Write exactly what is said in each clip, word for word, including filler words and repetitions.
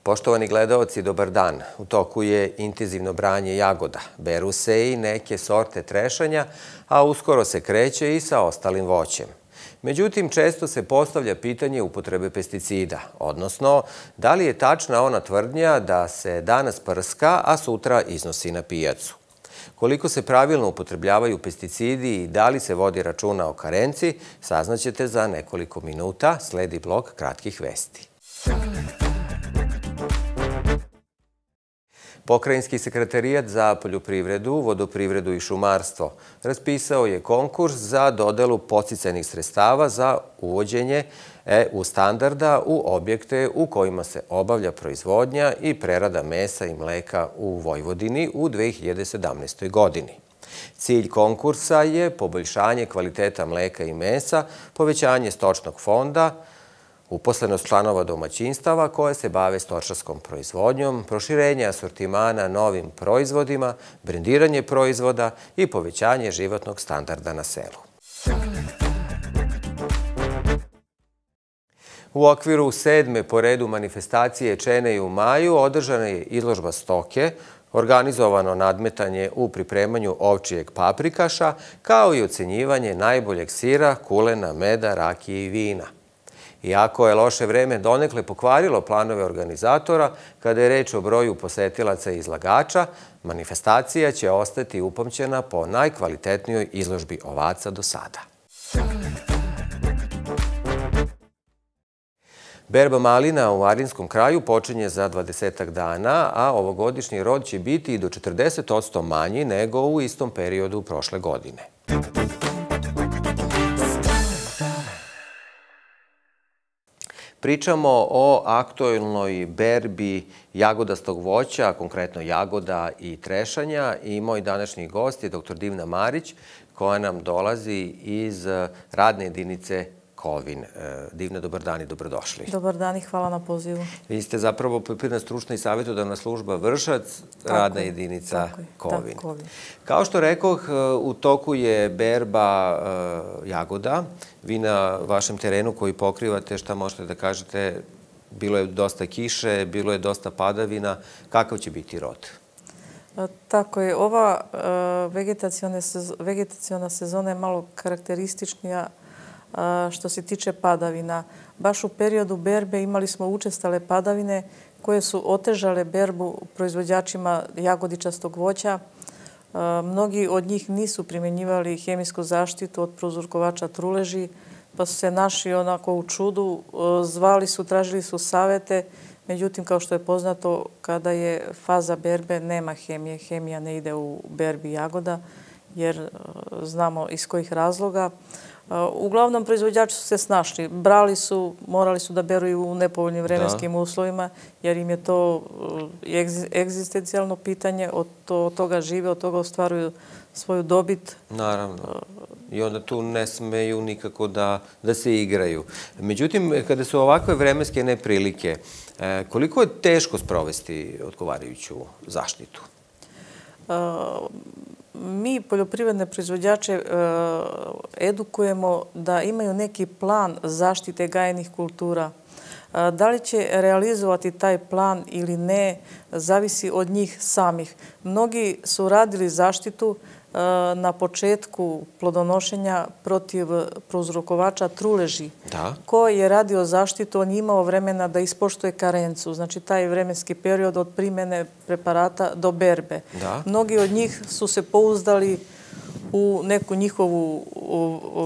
Poštovani gledaoci, dobar dan. U toku je intenzivno branje jagoda. Beru se i neke sorte trešanja, a uskoro se kreće i sa ostalim voćem. Međutim, često se postavlja pitanje upotrebe pesticida, odnosno da li je tačna ona tvrdnja da se danas prska, a sutra iznosi na pijacu. Koliko se pravilno upotrebljavaju pesticidi i da li se vodi računa o karenci, saznaćete za nekoliko minuta. Sledi blok kratkih vesti. Pokrajinski sekretarijat za poljoprivredu, vodoprivredu i šumarstvo raspisao je konkurs za dodelu podsticajnih sredstava za uvođenje E U standarda u objekte u kojima se obavlja proizvodnja i prerada mesa i mleka u Vojvodini u dve hiljade sedamnaestoj. godini. Cilj konkursa je poboljšanje kvaliteta mleka i mesa, povećanje stočnog fonda, uposlenost članova domaćinstava koje se bave stočarskom proizvodnjom, proširenje asortimana novim proizvodima, brendiranje proizvoda i povećanje životnog standarda na selu. U okviru sedme po redu manifestacije Čene u maju održana je izložba stoke, organizovano nadmetanje u pripremanju ovčijeg paprikaša, kao i ocenjivanje najboljeg sira, kulena, meda, rakije i vina. Iako je loše vreme donekle pokvarilo planove organizatora, kada je reč o broju posetilaca i izlagača, manifestacija će ostati upamćena po najkvalitetnijoj izložbi ovaca do sada. Berba malina u Arinskom kraju počinje za dvadesetak dana, a ovogodišnji rod će biti i do četrdeset posto manji nego u istom periodu prošle godine. Pričamo o aktuelnoj berbi jagodastog voća, konkretno jagoda i trešanja, i moj današnji gost je doktor Divna Marić, koja nam dolazi iz radne jedinice Kovin. Divna, dobar dan i dobrodošli. Dobar dan i hvala na pozivu. Vi ste zapravo poljoprivredna stručna i savjetodavna služba Vršac, radna jedinica Kovin. Kao što rekoh, u toku je berba jagoda. Vi na vašem terenu koji pokrivate, šta možete da kažete, bilo je dosta kiše, bilo je dosta padavina. Kakav će biti rod? Tako je. Ova vegetaciona sezona je malo karakterističnija što se tiče padavina. Baš u periodu berbe imali smo učestale padavine koje su otežale berbu proizvođačima jagodičastog voća. Mnogi od njih nisu primjenjivali hemijsku zaštitu od prouzrokovača truleži, pa su se našli onako u čudu, zvali su, tražili su savete. Međutim, kao što je poznato, kada je faza berbe, nema hemije. Hemija ne ide u berbi jagoda, jer znamo iz kojih razloga. Uglavnom, proizvođači su se snašli. Brali su, morali su da beru i u nepovoljnim vremenskim uslovima, jer im je to egzistencijalno pitanje, od toga žive, od toga ostvaruju svoju dobit. Naravno. I onda tu ne smeju nikako da se igraju. Međutim, kada su ovakve vremenske neprilike, koliko je teško sprovesti odgovarajuću zaštitu? Mi, poljoprivredne proizvođače, edukujemo da imaju neki plan zaštite gajenih kultura. Da li će realizovati taj plan ili ne, zavisi od njih samih. Mnogi su radili zaštitu na početku plodonošenja protiv prouzrokovača truleži. Ko je radio zaštitu, on je imao vremena da ispoštuje karencu, znači taj vremenski period od primjene preparata do berbe. Mnogi od njih su se pouzdali u neku njihovu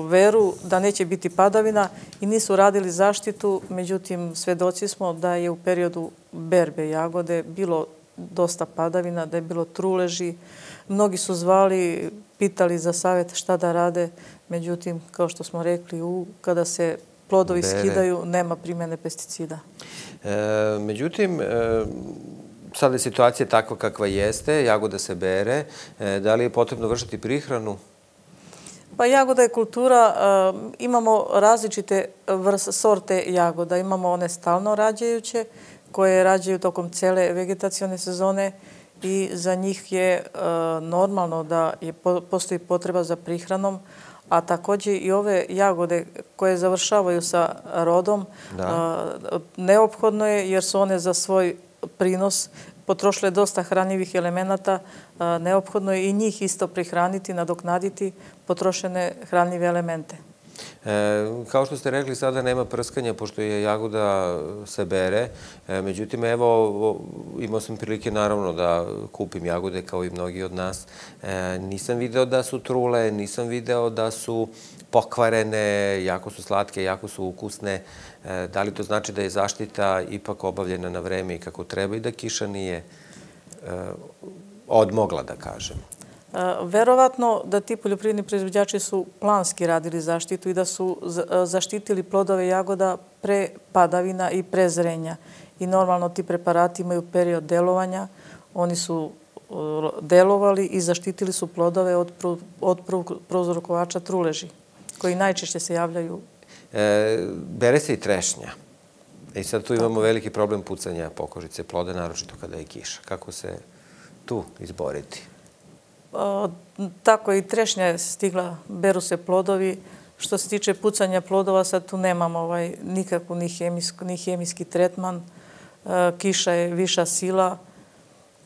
veru da neće biti padavina i nisu radili zaštitu. Međutim, svedoci smo da je u periodu berbe jagode bilo dosta padavina, da je bilo truleži. Mnogi su zvali, pitali za savjet šta da rade. Međutim, kao što smo rekli, kada se plodovi skidaju, nema primjene pesticida. Međutim, sada je situacija takva kakva jeste, jagoda se bere. Da li je potrebno vršiti prihranu? Pa jagoda je kultura. Imamo različite sorte jagoda. Imamo one stalno rađajuće, koje rađaju tokom cele vegetacione sezone i za njih je normalno da postoji potreba za prihranom, a također i ove jagode koje završavaju sa rodom neophodno je jer su one za svoj prinos, potrošile dosta hranjivih elemenata, neophodno je i njih isto prihraniti, nadoknaditi potrošene hranjive elemente. Kao što ste rekli, sada nema prskanja, pošto je jagoda se bere. Međutim, evo, imao sam prilike naravno da kupim jagode kao i mnogi od nas. Nisam video da su trule, nisam video da su pokvarene, jako su slatke, jako su ukusne. Da li to znači da je zaštita ipak obavljena na vreme i kako treba i da kiša nije odmogla, da kažem? Verovatno da ti poljoprivredni proizvođači su planski radili zaštitu i da su zaštitili plodove jagoda pre padavina i pre zrenja. I normalno ti preparati imaju period delovanja. Oni su delovali i zaštitili su plodove od prouzrokovača truleži, koji najčešće se javljaju. Bere se i trešnja. I sad tu imamo veliki problem pucanja pokožice ploda, naročito kada je kiša. Kako se tu izboriti? Tako i trešnja je stigla, beru se plodovi. Što se tiče pucanja plodova, sad tu nemamo nikakvu ni hemijski tretman. Kiša je viša sila.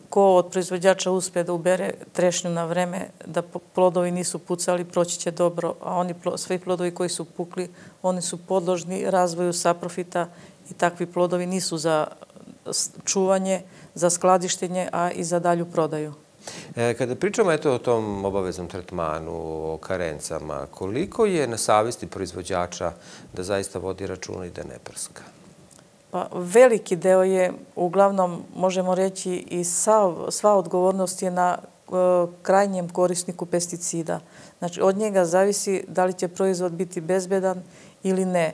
Ko od proizvođača uspe da ubere trešnju na vreme, da plodovi nisu pucali, proći će dobro. A oni, svi plodovi koji su pukli, oni su podložni razvoju saprofita i takvi plodovi nisu za čuvanje, za skladištenje, a i za dalju prodaju. Kada pričamo o tom obaveznom tretmanu, o karencama, koliko je na savesti proizvođača da zaista vodi računa i da ne prska? Pa veliki deo je, uglavnom možemo reći, i sva odgovornost je na krajnjem korisniku pesticida. Znači, od njega zavisi da li će proizvod biti bezbedan ili ne.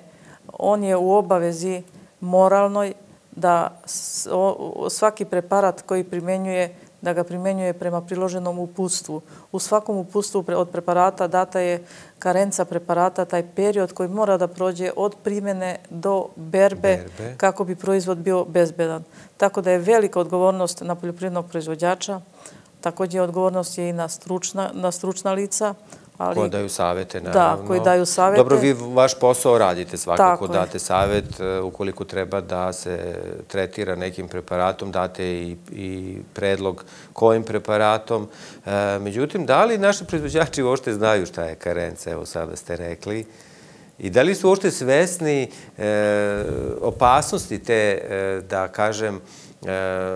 On je u obavezi moralnoj da svaki preparat koji primenjuje da ga primenjuje prema priloženom uputstvu. U svakom uputstvu od preparata data je karenca preparata, taj period koji mora da prođe od primjene do berbe kako bi proizvod bio bezbedan. Tako da je velika odgovornost na poljoprivrednog proizvođača. Također odgovornost je i na stručna lica. Koji daju savete, naravno. Da, koji daju savete. Dobro, vi vaš posao radite svakako, date savet. Ukoliko treba da se tretira nekim preparatom, date i predlog kojim preparatom. Međutim, da li naši proizvođači uopšte znaju šta je karenca, evo sada ste rekli, i da li su uopšte svesni opasnosti te, da kažem,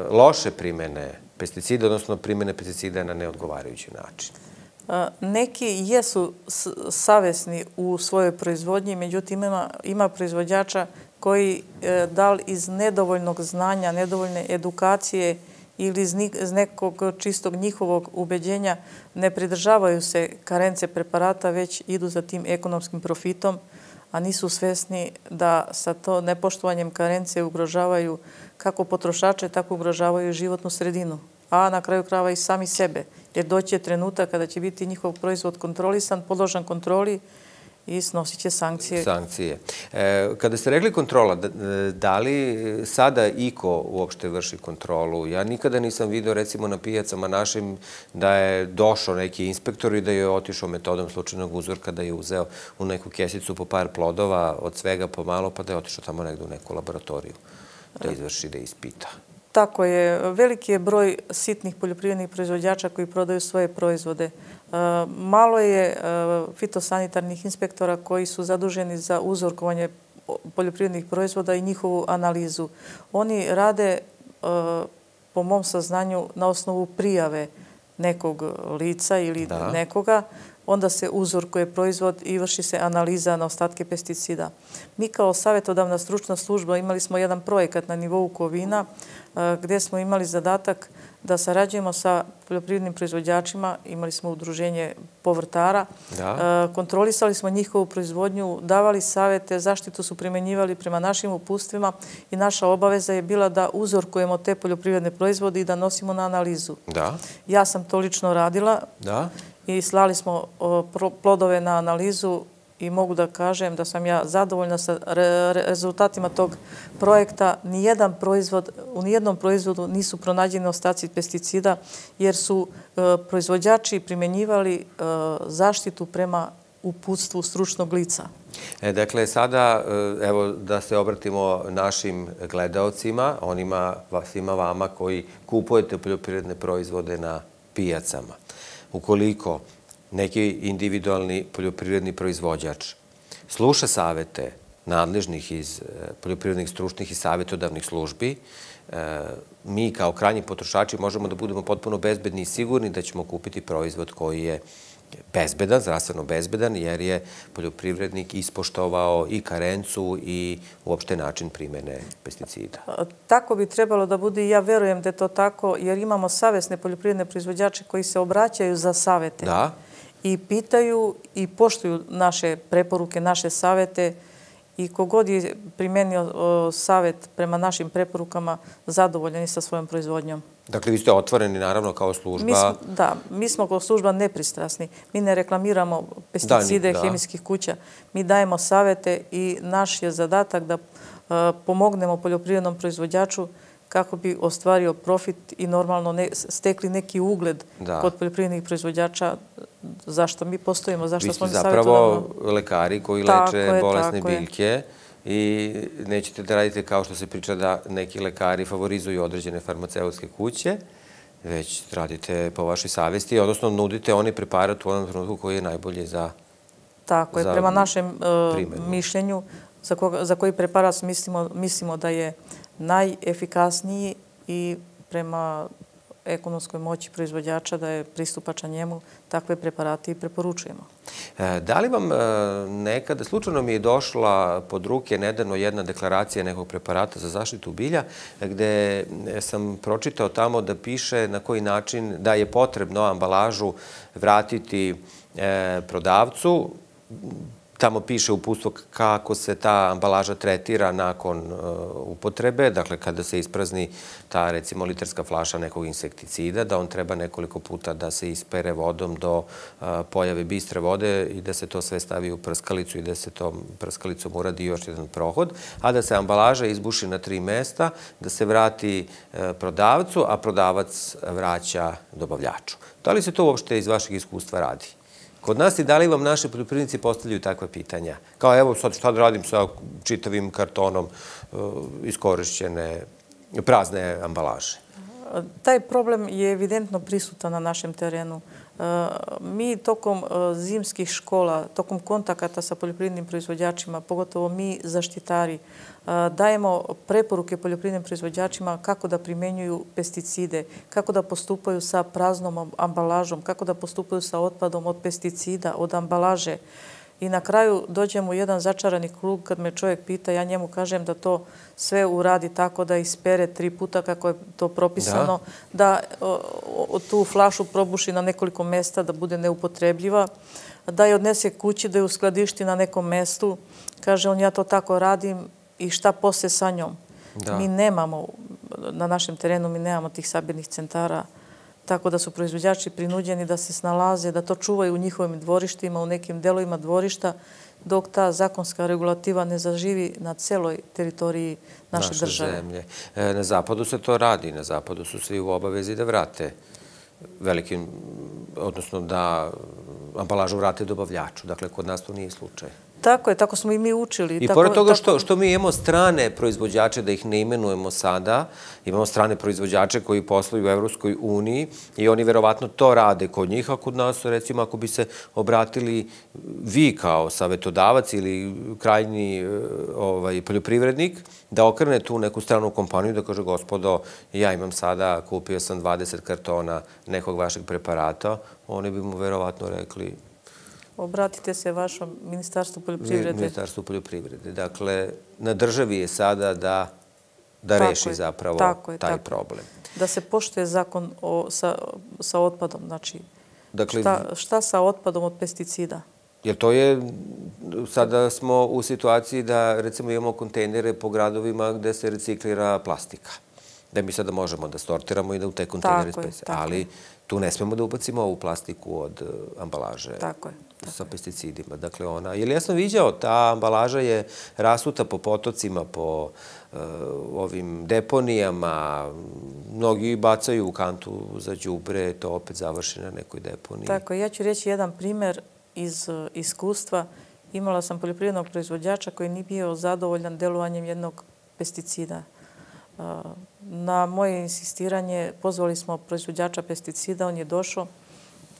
loše primene pesticida, odnosno primene pesticida na neodgovarajući način? Neki jesu savesni u svojoj proizvodnji, međutim ima proizvođača koji da li iz nedovoljnog znanja, nedovoljne edukacije ili iz nekog čistog njihovog ubeđenja ne pridržavaju se karence preparata, već idu za tim ekonomskim profitom, a nisu svesni da sa to nepoštovanjem karence ugrožavaju kako potrošače, tako ugrožavaju životnu sredinu, a na kraju krajeva i sami sebe. Jer doći je trenutak kada će biti njihov proizvod kontrolisan, podložan kontroli i snosit će sankcije. Sankcije. Kada ste rekli kontrola, da li sada iko uopšte vrši kontrolu? Ja nikada nisam vidio, recimo, na pijacama našim da je došao neki inspektor i da je otišao metodom slučajnog uzorka, da je uzeo u neku kesicu po par plodova od svega pomalo, pa da je otišao tamo negdje u neku laboratoriju da izvrši, da ispita. Tako je. Veliki je broj sitnih poljoprivrednih proizvođača koji prodaju svoje proizvode. Malo je fitosanitarnih inspektora koji su zaduženi za uzorkovanje poljoprivrednih proizvoda i njihovu analizu. Oni rade, po mom saznanju, na osnovu prijave nekog lica ili nekoga, onda se uzorkuje proizvod i vrši se analiza na ostatke pesticida. Mi kao savjetodavna stručna služba imali smo jedan projekat na nivou Kovina gdje smo imali zadatak da sarađujemo sa poljoprivrednim proizvođačima, imali smo udruženje povrtara, kontrolisali smo njihovu proizvodnju, davali savjete, zaštitu su primjenjivali prema našim uputstvima i naša obaveza je bila da uzorkujemo te poljoprivredne proizvode i da nosimo na analizu. Ja sam to lično radila i slali smo plodove na analizu i mogu da kažem da sam ja zadovoljna sa rezultatima tog projekta. Nijedan proizvod, u nijednom proizvodu nisu pronađeni ostaci pesticida jer su proizvođači primjenjivali zaštitu prema uputstvu stručnog lica. Dakle, sada, evo, da se obratimo našim gledaocima, onima, svima vama koji kupujete poljoprivredne proizvode na pijacama. Ukoliko neki individualni poljoprivredni proizvođač sluša savete nadležnih iz poljoprivrednih stručnih i savjetodavnih službi, mi kao krajnji potrošači možemo da budemo potpuno bezbedni i sigurni da ćemo kupiti proizvod koji je bezbedan, zdravstveno bezbedan, jer je poljoprivrednik ispoštovao i karencu i uopšte način primene pesticida. Tako bi trebalo da bude i ja verujem da je to tako, jer imamo savesne poljoprivredne proizvođače koji se obraćaju za savete. Da. I pitaju i poštuju naše preporuke, naše savete i kogod je primenio savet prema našim preporukama, zadovoljan i sa svojom proizvodnjom. Dakle, vi ste otvoreni, naravno, kao služba. Da, mi smo kao služba nepristrasni. Mi ne reklamiramo pesticide hemijskih kuća. Mi dajemo savete i naš je zadatak da pomognemo poljoprivrednom proizvođaču kako bi ostvario profit i normalno stekli neki ugled kod poljoprivrednih proizvođača. Zašto mi postojimo, zašto smo mi savjetodavno? Vi ste zapravo lekari koji leče bolesne biljke i nećete da radite kao što se priča da neki lekari favorizuju određene farmaceutske kuće, već radite po vašoj savesti, odnosno nudite oni preparat u onom trenutku koji je najbolji za primjenu. Tako je, prema našem mišljenju, za koji preparat mislimo da je najefikasniji i prema ekonomskoj moći proizvođača da je pristupačan njemu, takve preparate i preporučujemo. Da li vam nekada, slučajno mi je došla pod ruke nedavno jedna deklaracija nekog preparata za zaštitu bilja, gde sam pročitao tamo da piše na koji način da je potrebno ambalažu vratiti prodavcu. Tamo piše uputstvo kako se ta ambalaža tretira nakon upotrebe, dakle kada se isprazni ta, recimo, litarska flaša nekog insekticida, da on treba nekoliko puta da se ispere vodom do pojave bistre vode i da se to sve stavi u prskalicu i da se tom prskalicom uradi još jedan prohod, a da se ambalaža izbuši na tri mesta, da se vrati prodavcu, a prodavac vraća dobavljaču. Da li se to uopšte iz vašeg iskustva radi? Kod nas i da li vam naši poljoprivrednici postavljaju takva pitanja? Kao evo sad šta da radim sa čitavim kartonom iskorišćene prazne ambalaže? Taj problem je evidentno prisutan na našem terenu. Mi tokom zimskih škola, tokom kontakata sa poljoprivrednim proizvođačima, pogotovo mi zaštitari, dajemo preporuke poljoprivrednim proizvođačima kako da primenjuju pesticide, kako da postupaju sa praznom ambalažom, kako da postupaju sa otpadom od pesticida, od ambalaže. I na kraju dođemo u jedan začarani krug kad me čovjek pita, ja njemu kažem da to sve uradi tako da ispere tri puta kako je to propisano, da tu flašu probuši na nekoliko mesta, da bude neupotrebljiva, da je odnese kući, da je uskladišti na nekom mestu. Kaže on, ja to tako radim i šta posle sa njom? Mi nemamo, na našem terenu mi nemamo tih sabirnih centara, tako da su proizvođači prinuđeni da se snalaze, da to čuvaju u njihovim dvorištima, u nekim delovima dvorišta, dok ta zakonska regulativa ne zaživi na celoj teritoriji naše države. Naše zemlje. Na zapadu se to radi. Na zapadu su svi u obavezi da vrate velikim, odnosno da ambalažu vrate dobavljaču. Dakle, kod nas to nije slučaj. Tako je, tako smo i mi učili. I pored toga što mi imamo strane proizvođače, da ih ne imenujemo sada, imamo strane proizvođače koji posluju u Evropskoj uniji i oni verovatno to rade kod njih, a kod nas, recimo, ako bi se obratili vi kao savjetodavac ili krajnji poljoprivrednik, da okrene tu neku stranu kompaniju, da kaže, gospodo, ja imam sada, kupio sam dvadeset kartona nekog vašeg preparata, oni bi mu verovatno rekli... Obratite se vašom Ministarstvu poljoprivrede. Ministarstvu poljoprivrede. Dakle, na državi je sada da reši zapravo taj problem. Da se poštuje zakon sa otpadom. Znači, šta sa otpadom od pesticida? Jer to je, sada smo u situaciji da, recimo, imamo kontejnere po gradovima gde se reciklira plastika. Da mi sada možemo da sortiramo i da u te kontejnere spesimo. Ali tu ne smemo da ubacimo ovu plastiku od ambalaže sa pesticidima. Dakle, ona, jer ja sam viđao, ta ambalaža je rasuta po potocima, po ovim deponijama. Mnogi bacaju u kantu za đubre, to opet završi na nekoj deponiji. Tako, ja ću reći jedan primer. iz iskustva. Imala sam poljoprivrednog proizvođača koji nije bio zadovoljan delovanjem jednog pesticida. Na moje insistiranje pozvali smo proizvođača pesticida, on je došao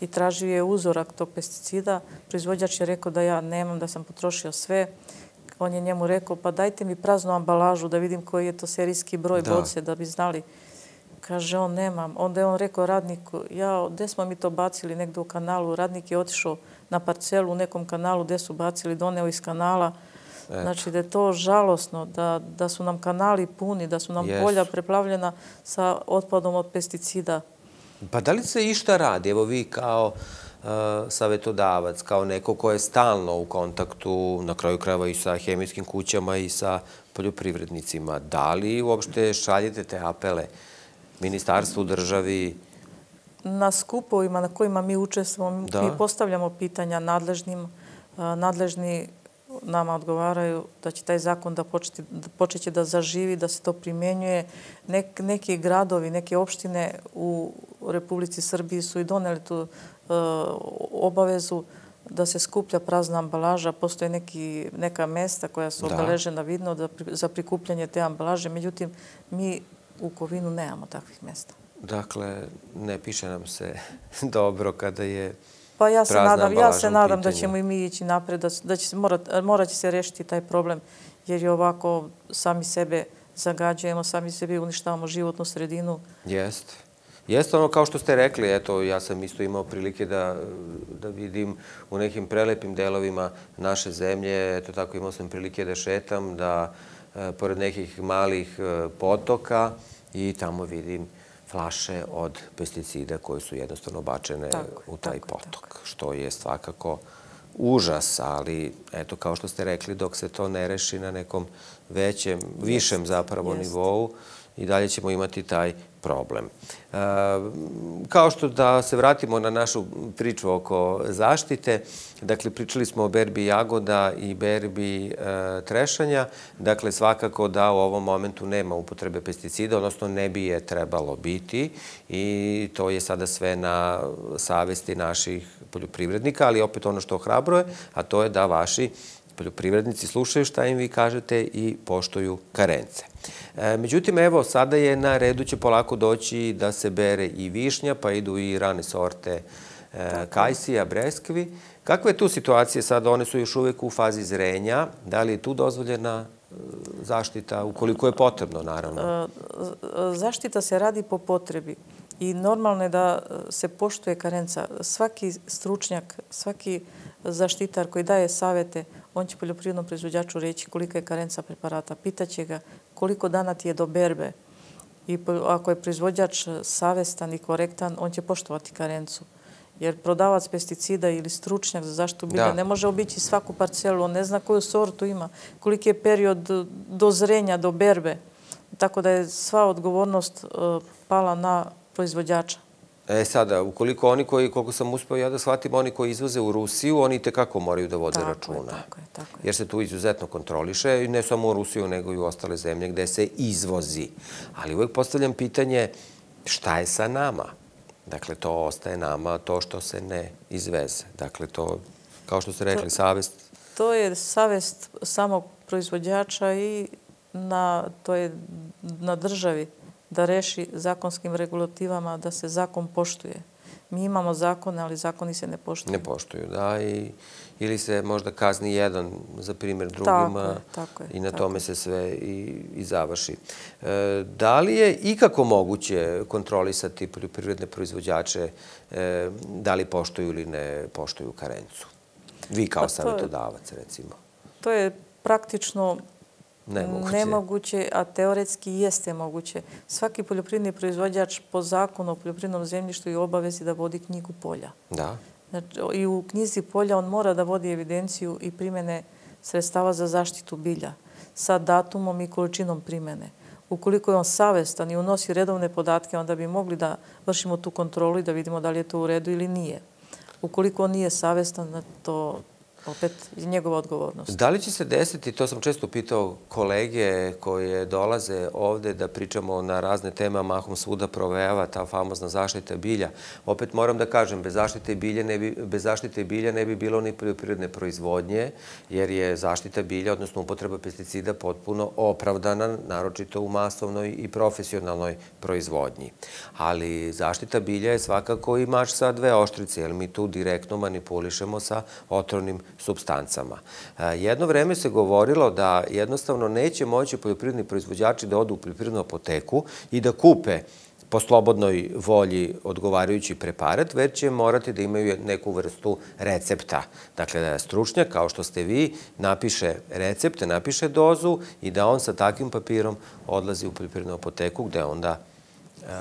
i tražio je uzorak tog pesticida. Proizvođač je rekao da ja nemam, da sam potrošio sve. On je njemu rekao, pa dajte mi praznu ambalažu da vidim koji je to serijski broj boce, da bi znali. Kaže, on nemam. Onda je on rekao radniku, ja, gde smo mi to bacili negdje u kanalu? Radnik je otišao na parcelu u nekom kanalu gde su bacili, doneo iz kanala. Znači da je to žalosno, da su nam kanali puni, da su nam polja preplavljena sa otpadom od pesticida. Pa da li se išta radi? Evo vi kao savjetodavac, kao neko ko je stalno u kontaktu, na kraju krajeva i sa hemijskim kućama i sa poljoprivrednicima, da li uopšte šaljete te apele ministarstvu, državi? Na skupovima na kojima mi učestvujemo, mi postavljamo pitanja nadležnim. Nadležni nama odgovaraju da će taj zakon da počeće da zaživi, da se to primjenjuje. Neki gradovi, neke opštine u Republici Srbiji su i doneli tu obavezu da se skuplja prazna ambalaža. Postoje neka mesta koja su obeležena vidno za prikupljanje te ambalaže. Međutim, mi u Kovinu nemamo takvih mesta. Dakle, ne piše nam se dobro kada je pa ja se nadam, ja se nadam da ćemo i mi ići napred, da će morat će se rešiti taj problem, jer je ovako sami sebe zagađujemo, sami sebi uništavamo životnu sredinu. Jeste. Jeste ono kao što ste rekli, eto, ja sam isto imao prilike da vidim u nekim prelepim delovima naše zemlje, eto tako imao sam prilike da šetam, da pored nekih malih potoka i tamo vidim flaše od pesticida koje su jednostavno bačene u taj potok, što je svakako užas, ali eto, kao što ste rekli, dok se to ne reši na nekom većem, višem zapravo nivou, i dalje ćemo imati taj problem. Kao što da se vratimo na našu priču oko zaštite, dakle, pričali smo o berbi jagoda i berbi trešanja, dakle, svakako da u ovom momentu nema upotrebe pesticida, odnosno ne bi je trebalo biti i to je sada sve na savesti naših poljoprivrednika, ali opet ono što ohrabruje, a to je da vaši poljoprivrednici slušaju šta im vi kažete i poštuju karence. Međutim, evo, sada je na redu će polako doći da se bere i višnja, pa idu i rane sorte kajsija, breskvi. Kakva je tu situacija sada? One su još uvijek u fazi zrenja. Da li je tu dozvoljena zaštita, ukoliko je potrebno, naravno? Zaštita se radi po potrebi i normalno je da se poštuje karenca. Svaki stručnjak, svaki zaštitar koji daje savete, on će poljoprivrednom proizvođaču reći kolika je karenca preparata. Pitaće ga koliko dana ti je do berbe. I ako je proizvođač savestan i korektan, on će poštovati karencu. Jer prodavac pesticida ili stručnjak za zaštitu bilja ne može obići svaku parcelu. On ne zna koju sortu ima, koliki je period do zrenja, do berbe. Tako da je sva odgovornost pala na proizvođača. E sada, ukoliko oni koji, koliko sam uspio ja da shvatim, oni koji izvoze u Rusiju, oni tekako moraju da vode računa. Tako je, tako je. Jer se tu izuzetno kontroliše, ne samo u Rusiju, nego i u ostale zemlje gde se izvozi. Ali uvijek postavljam pitanje šta je sa nama? Dakle, to ostaje nama, to što se ne izveze. Dakle, to, kao što ste rekli, savest... To je savest samog proizvođača i to je na državi da reši zakonskim regulativama da se zakon poštuje. Mi imamo zakone, ali zakoni se ne poštuju. Ne poštuju, da. Ili se možda kazni jedan za primjer drugima i na tome se sve i završi. Da li je ikako moguće kontrolisati poljoprivredne proizvođače da li poštuju ili ne poštuju karencu? Vi kao savjetodavac, recimo. To je praktično nemoguće, a teoretski jeste moguće. Svaki poljoprivredni proizvođač po zakonu o poljoprivrednom zemljištu je u obavezi da vodi knjigu polja. Da. I u knjizi polja on mora da vodi evidenciju i primene sredstava za zaštitu bilja sa datumom i količinom primene. Ukoliko je on savestan i unosi redovne podatke, onda bi mogli da vršimo tu kontrolu i da vidimo da li je to u redu ili nije. Ukoliko on nije savestan, to opet je njegova odgovornost. Da li će se desiti, to sam često pitao kolege koje dolaze ovde da pričamo na razne teme, mahom svuda provejava ta famozna zaštita bilja. Opet moram da kažem, bez zaštite bilja ne bi, bez zaštite bilja ne bi bilo ni poljoprivredne proizvodnje, jer je zaštita bilja, odnosno upotreba pesticida, potpuno opravdana, naročito u masovnoj i profesionalnoj proizvodnji. Ali zaštita bilja je svakako i mač sa dve oštrice, jer mi tu direktno manipulišemo sa otrovnim supstancama. Jedno vreme se govorilo da jednostavno neće moći poljoprivredni proizvođači da odu u poljoprivrednu apoteku i da kupe po slobodnoj volji odgovarajući preparat, već će morati da imaju neku vrstu recepta. Dakle, da stručnjak, kao što ste vi, napiše recepte, napiše dozu i da on sa takvim papirom odlazi u poljoprivrednu apoteku gde onda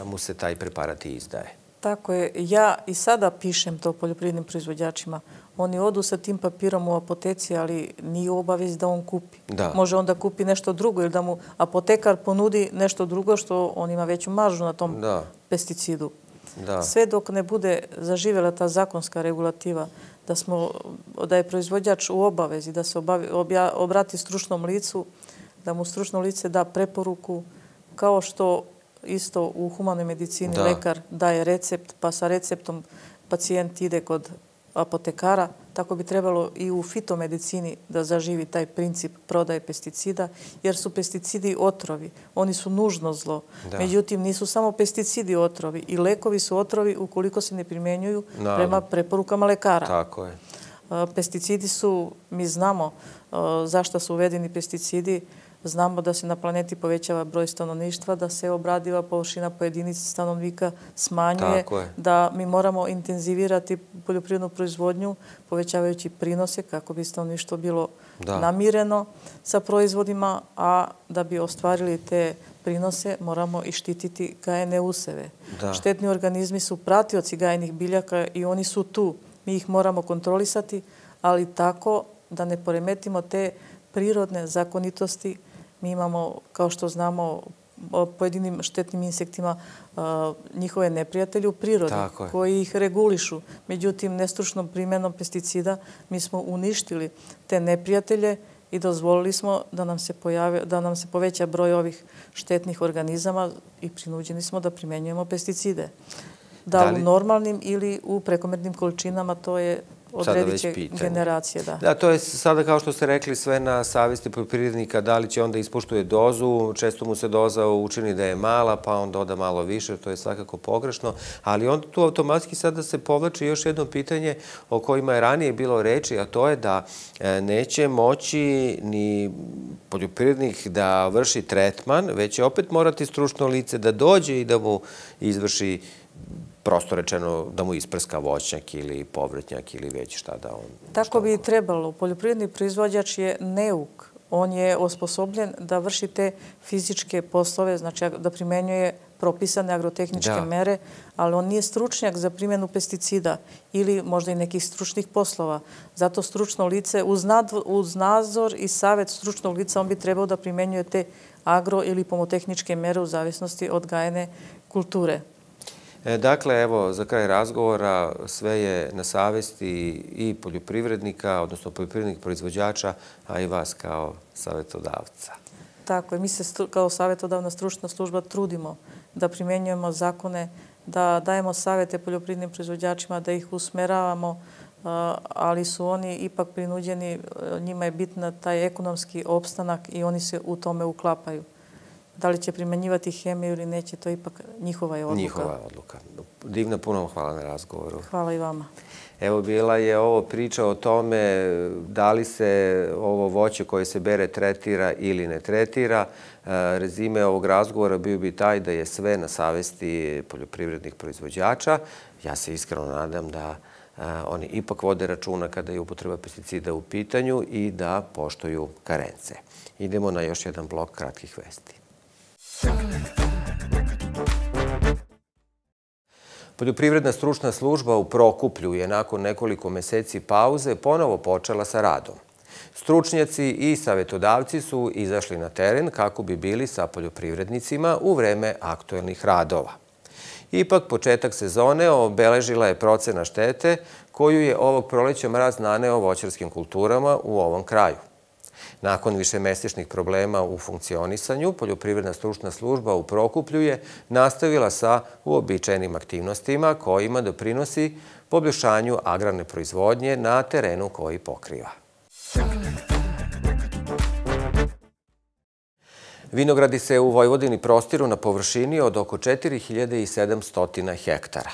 mu se taj preparat i izdaje. Tako je. Ja i sada pišem to poljoprivrednim proizvođačima. Oni odu sa tim papirom u apoteci, ali nije u obavezi da on kupi. Može on da kupi nešto drugo ili da mu apotekar ponudi nešto drugo što on ima veću maržu na tom pesticidu. Sve dok ne bude zaživjela ta zakonska regulativa da je proizvođač u obavezi da se obrati stručnom licu, da mu stručno lice da preporuku, kao što isto u humanoj medicini lekar daje recept, pa sa receptom pacijent ide kod apotekara, tako bi trebalo i u fitomedicini da zaživi taj princip prodaje pesticida, jer su pesticidi otrovi. Oni su nužno zlo. Međutim, nisu samo pesticidi otrovi. I lekovi su otrovi ukoliko se ne primjenjuju prema preporukama lekara. Tako je. Pesticidi su, mi znamo zašto su uvedeni pesticidi, znamo da se na planeti povećava broj stanovništva, da se obradiva površina po jedinici stanovnika smanjuje, da mi moramo intenzivirati poljoprivrednu proizvodnju, povećavajući prinose kako bi stanovništvo bilo namireno sa proizvodima, a da bi ostvarili te prinose moramo i štititi gajene useve. Štetni organizmi su pratioci gajenih biljaka i oni su tu. Mi ih moramo kontrolisati, ali tako da ne poremetimo te prirodne zakonitosti. Mi imamo, kao što znamo, pojedinim štetnim insektima njihove neprijatelje u prirodi koji ih regulišu. Međutim, nestručnom primjenom pesticida mi smo uništili te neprijatelje i dozvolili smo da nam se poveća broj ovih štetnih organizama i prinuđeni smo da primjenjujemo pesticide. Da u normalnim ili u prekomernim količinama, to je odredit će generacije. Da, to je sada, kao što ste rekli, sve na savjesti poljoprivrednika, da li će onda ispoštuje dozu, često mu se doza učini da je mala, pa on doda malo više, to je svakako pogrešno, ali onda tu automatski sada se povlači još jedno pitanje o kojima je ranije bilo reči, a to je da neće moći ni poljoprivrednik da vrši tretman, već će opet morati stručno lice da dođe i da mu izvrši, prosto rečeno, da mu isprska voćnjak ili povrtnjak ili već šta da on... Tako bi i trebalo. Poljoprivredni proizvođač je neuk. On je osposobljen da vrši te fizičke poslove, znači da primenjuje propisane agrotehničke mere, ali on nije stručnjak za primjenu pesticida ili možda i nekih stručnih poslova. Zato stručno lice, uz nadzor i savjet stručnog lica, on bi trebao da primenjuje te agro- ili pomotehničke mere u zavisnosti od gajene kulture. Dakle, evo, za kraj razgovora, sve je na savjesti i poljoprivrednika, odnosno poljoprivrednih proizvođača, a i vas kao savjetodavca. Tako je. Mi se kao savjetodavna stručna služba trudimo da primjenjujemo zakone, da dajemo savjete poljoprivrednim proizvođačima, da ih usmeravamo, ali su oni ipak prinuđeni, njima je bitna taj ekonomski opstanak i oni se u tome uklapaju. Da li će primjenjivati hemiju ili neće, to je ipak njihova je odluka. Njihova je odluka. Divna, puno vam hvala na razgovoru. Hvala i vama. Evo, bila je ovo priča o tome da li se ovo voće koje se bere tretira ili ne tretira. Rezime ovog razgovora bio bi taj da je sve na savjesti poljoprivrednih proizvođača. Ja se iskreno nadam da oni ipak vode računa kada je upotreba pesticida u pitanju i da poštuju karence. Idemo na još jedan blok kratkih vesti. Poljoprivredna stručna služba u Prokuplju je nakon nekoliko meseci pauze ponovo počela sa radom. Stručnjaci i savjetodavci su izašli na teren kako bi bili sa poljoprivrednicima u vreme aktuelnih radova. Ipak, početak sezone obeležila je procena štete koju je ovog proleća mraz naneo voćarskim kulturama u ovom kraju. Nakon višemesečnih problema u funkcionisanju, Poljoprivredna stručna služba u Prokuplju je nastavila sa uobičajenim aktivnostima kojima doprinosi poboljšanju agrarne proizvodnje na terenu koji pokriva. Vinogradi se u Vojvodini prostiru na površini od oko četiri hiljade sedamsto hektara.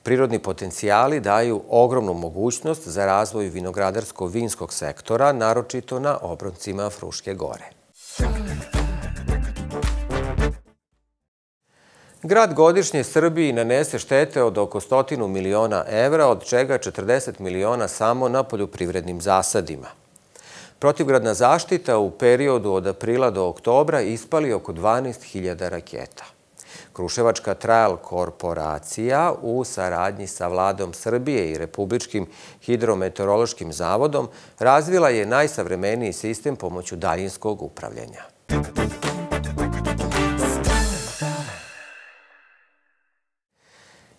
Prirodni potencijali daju ogromnu mogućnost za razvoj vinogradarsko-vinskog sektora, naročito na obroncima Fruške gore. Grad godišnje Srbiji nanese štete od oko stotinu miliona evra, od čega četrdeset miliona samo na poljoprivrednim zasadima. Protivgradna zaštita u periodu od aprila do oktobra ispali oko dvanaest hiljada raketa. Kruševačka Trajal korporacija u saradnji sa Vladom Srbije i Republičkim hidrometeorološkim zavodom razvila je najsavremeniji sistem pomoću daljinskog upravljanja.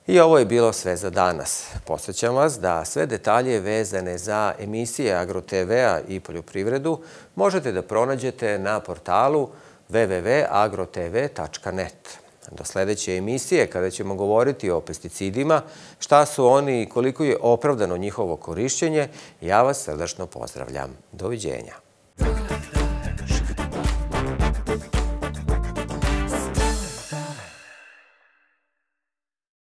I ovo je bilo sve za danas. Podsećam vas da sve detalje vezane za emisije Agro te ve-a i poljoprivredu možete da pronađete na portalu w w w tačka agro t v tačka net. Do sledeće emisije, kada ćemo govoriti o pesticidima, šta su oni i koliko je opravdano njihovo korišćenje, ja vas srdačno pozdravljam. Doviđenja.